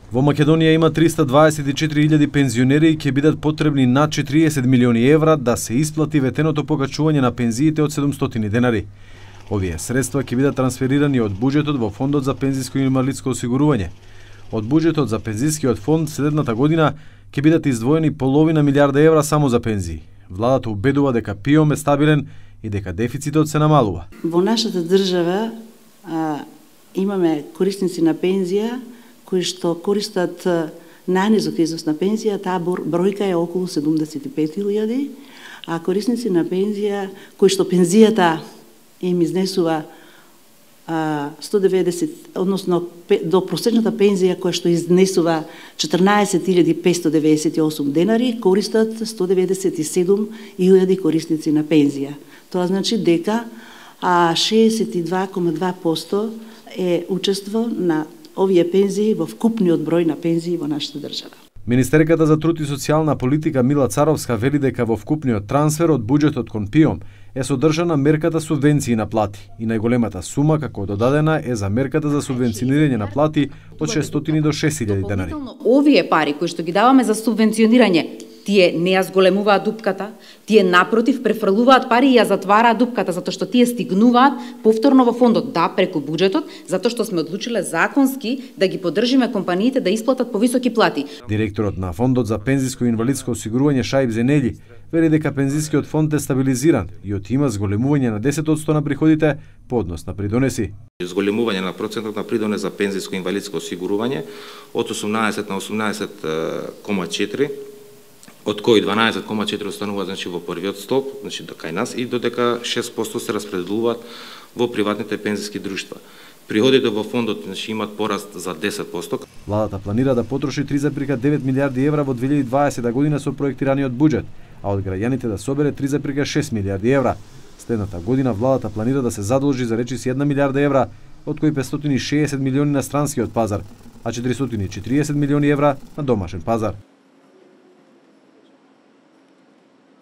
Во Македонија има 324.000 пензионери и ќе бидат потребни над 40 милиони евра да се исплати ветеното покачување на пензиите од 700 денари. Овие средства ќе бидат трансферирани од буџетот во Фондот за пензиско и инвалидско осигурување. Од буџетот за пензискиот фонд следната година ќе бидат издвоени половина милиарда евра само за пензии. Владата убедува дека ПИОМ е стабилен и дека дефицитот се намалува. Во нашата држава имаме корисници на пензија кои што користат најнизок износ на пензија, таа бројка е околу 75.000, а корисници на пензија кои што пензијата им изнесува 190, односно до просечната пензија која што изнесува 14.598 денари, користат 197.000 корисници на пензија. Тоа значи дека 62,2% е учество на овие пензии во вкупниот број на пензии во нашата држава. Министерката за труд и социјална политика Мила Царовска вели дека во вкупниот трансфер од буџетот кон ПИОМ е содржана мерката субвенции на плати и најголемата сума како додадена е за мерката за субвенционирање на плати од 600 до 6.000 денари. Овие пари кои што ги даваме за субвенционирање, тие не ја зголемуваат дупката, тие напротив префрлуваат пари и ја затвараат дупката, затоа што тие стигнуваат повторно во фондот, да, преку буџетот, затоа што сме одлучиле законски да ги поддржиме компаниите да исплатат повисоки плати. Директорот на Фондот за пензиско и инвалидско осигурување Шаиб Зенели вели дека пензискиот фонд е стабилизиран и има зголемување на 10% на приходите по однос на придонеси. Зголемување на процентот на придонес за пензиско и инвалидско осигурување од 18 на 18,4%, од кои 12,4 останува значи во првиот столб, значи кај нас, и додека 6% се распределуваат во приватните пензиски друштва. Приходите во фондот значи имаат пораст за 10%. Владата планира да потроши 3,9 милиарди евра во 2020 година со проектираниот буџет, а од граѓаните да собере 3,6 милиарди евра. Следната година владата планира да се задолжи за речиси 1 милиарда евра, од кои 560 милиони на странскиот пазар, а 440 милиони евра на домашен пазар.